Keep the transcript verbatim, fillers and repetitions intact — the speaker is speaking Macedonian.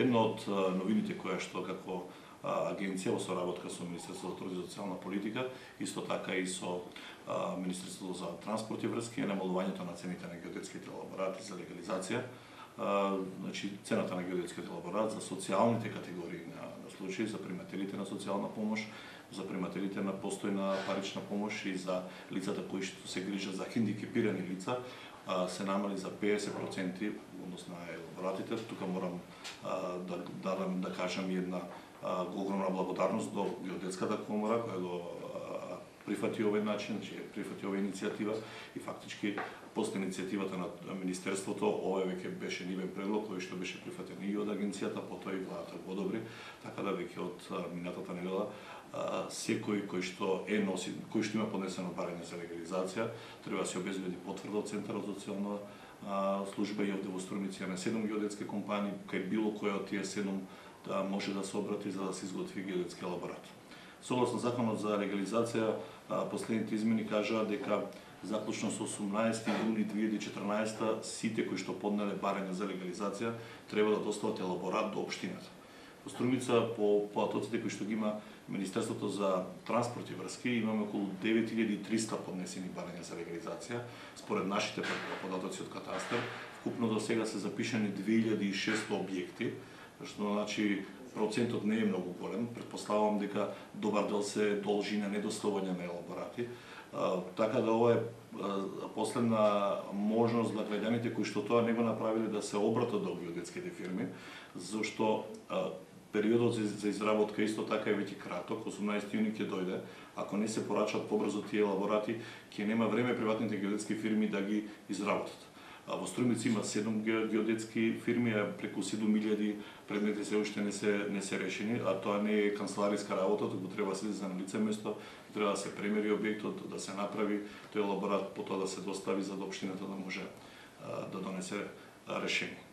Една од новините која што како агенција во соработка со Министерството за труд и социјална политика, исто така и со Министерството за транспорт и врски, е намалувањето на цените на геодетските елаборати за легализација. Значи, цената на геодетскиот елаборат за социјалните категории на, на случаи, за примателите на социјална помош, за примателите на постојна парична помош и за лицата кои што се грижат за хендикепирани лица, се намали за педесет проценти однос на елаборатите. Тука морам да, да, да кажам една огромна благодарност до Геодетската комора која го прифати овој начин, че прифати оваа иницијатива и фактички после иницијативата на Министерството, ова веќе беше нивен предлог кој што беше прифатен и од агенцијата, потоа и владата го одобри, така да веќе од минатата недела секој кој што е носи, кој што има поднесено барање за легализација, треба да се обезбеди потврда од Центарот за социјална служба и овде во Струмица на седум геодетски компании, кај било која од тие седум да може да се обрати за да се изготви геодетски елаборат. Согласно законот за легализација, последните измени кажаа дека заклучно со осумнаесети јуни две илјади и четрнаесета сите кои што поднеле барање за легализација треба да достават елаборат до општината. Во Струмица, по податоците кои што ги има Министерството за транспорт и врски, имаме околу девет илјади и триста поднесени барања за легализација. Според нашите податоци од катастар, вкупно до сега се запишани две илјади и шестsto објекти, што значи процентот не е многу голем. Претпоставувам дека добар дел се должи на недоставување на елаборати. Така да ова е последна можност за граѓаните кои што тоа не го направиле да се обратат до геодетските фирми, зашто периодот за изработка исто така е веќе краток, осумнаесети јуни ќе дојде. Ако не се порачат побрзо тие елаборати, ќе нема време приватните геодетски фирми да ги изработат. Во Струмица има седум геодетски фирми, а преку седум илјади предмети се уште не се не се решени, а тоа не е канцелариска работа, туку треба да се иде на лице место, треба да се премери објектот, да се направи тој елаборат, потоа да се достави за да општината да може да донесе решение.